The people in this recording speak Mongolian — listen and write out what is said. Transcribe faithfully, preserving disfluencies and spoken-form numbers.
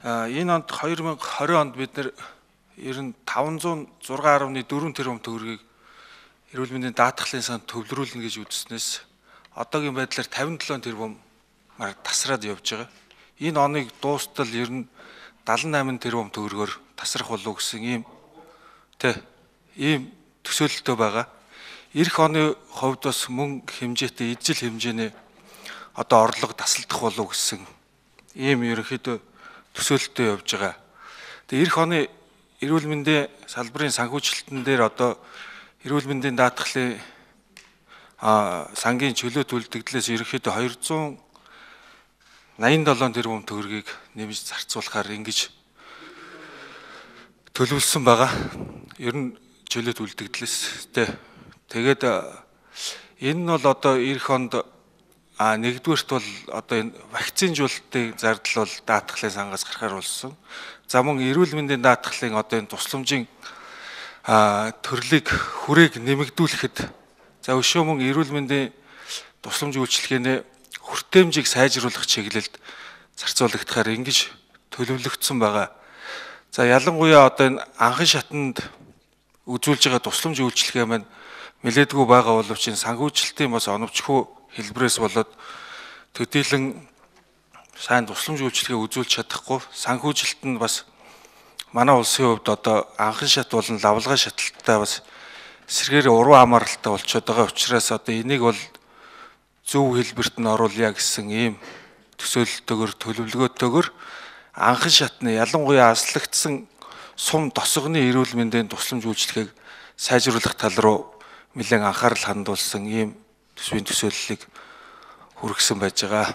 Энэ онд хоёр мянга хорин онд бид нэр ер нь таван зуун зургаан гаруй дөрвөн тэрбум төгрөгийг эрүүл мэндийн даатгалын санд төвлөрүүлнэ гэж үзснээс одоогийн байдлаар тавин долоон тэрбумаар тасраад явж байгаа. Энэ оныг дуустал ер нь дадлан найман тэрбум төгрөгөөр тасрах болов гэсэн ийм тэ ийм төсөөлөлтөө байгаа. Ирэх оны хувьд бас мөн хэмжээтэй ижил хэмжээний одоо орлого тасалдах болов гэсэн ийм ерөнхийдөө төсөөлөлтөө явж байгаа. Тэгээ эх оны эрүүл мэндийн салбарын санхүүжилтэн дээр одоо эрүүл мэндийн даатгалын а сангийн чөлөө төлөвлөлтөөс ерөнхийдөө хоёрзуун найман долоон тэрбум төгрөгийг нэмж зарцуулахаар ингэж төлөвлөсөн байгаа. Ер нь чөлөө төлөвлөлтөөс тэ тэгээд энэ нь бол одоо эх онд А нэгдүгээрт бол одоо энэ вакцинжуулалтын зардал бол даатгалын сангаас гарахаар болсон. За мөн эрүүл мэндийн даатгалын одоо энэ тусламжийн төрлийг хүрээг нэмэгдүүлэхэд за өшөө мөн эрүүл мэндийн тусламж үйлчилгээний хүртээмжийг сайжруулах чиглэлд зарцуулагдахаар ингэж төлөвлөгдсөн байгаа. За ялангуяа одоо энэ анхан шатанд үзүүлж байгаа тусламж үйлчилгээ маань нэлээдгүй байгаа боловч энэ санхүүжилтийн бас оновчхөө хэлбэрээс болоод төдийлөн сайн тусламж үйлчилгээ үзүүлж чадахгүй санхүүжилт нь бас манай улсын хувьд одоо анхан шат болон лавлгай шаталттай бас эсрэгээр уруу хамааралтай болчиход байгаа учраас одоо энийг бол зөв хэлбэрт нь оруулъя гэсэн ийм төсөөлөлтөөр төлөвлөгөөтэйгээр анхан шатны ялангуяа аслагдсан сум тосгоны эрүүл мэндийн тусламж үйлчилгээг сайжруулах тал руу нэлээд анхаарал хандуулсан ийм төсвийн төсөөллийг хүргэсэн байж байгаа.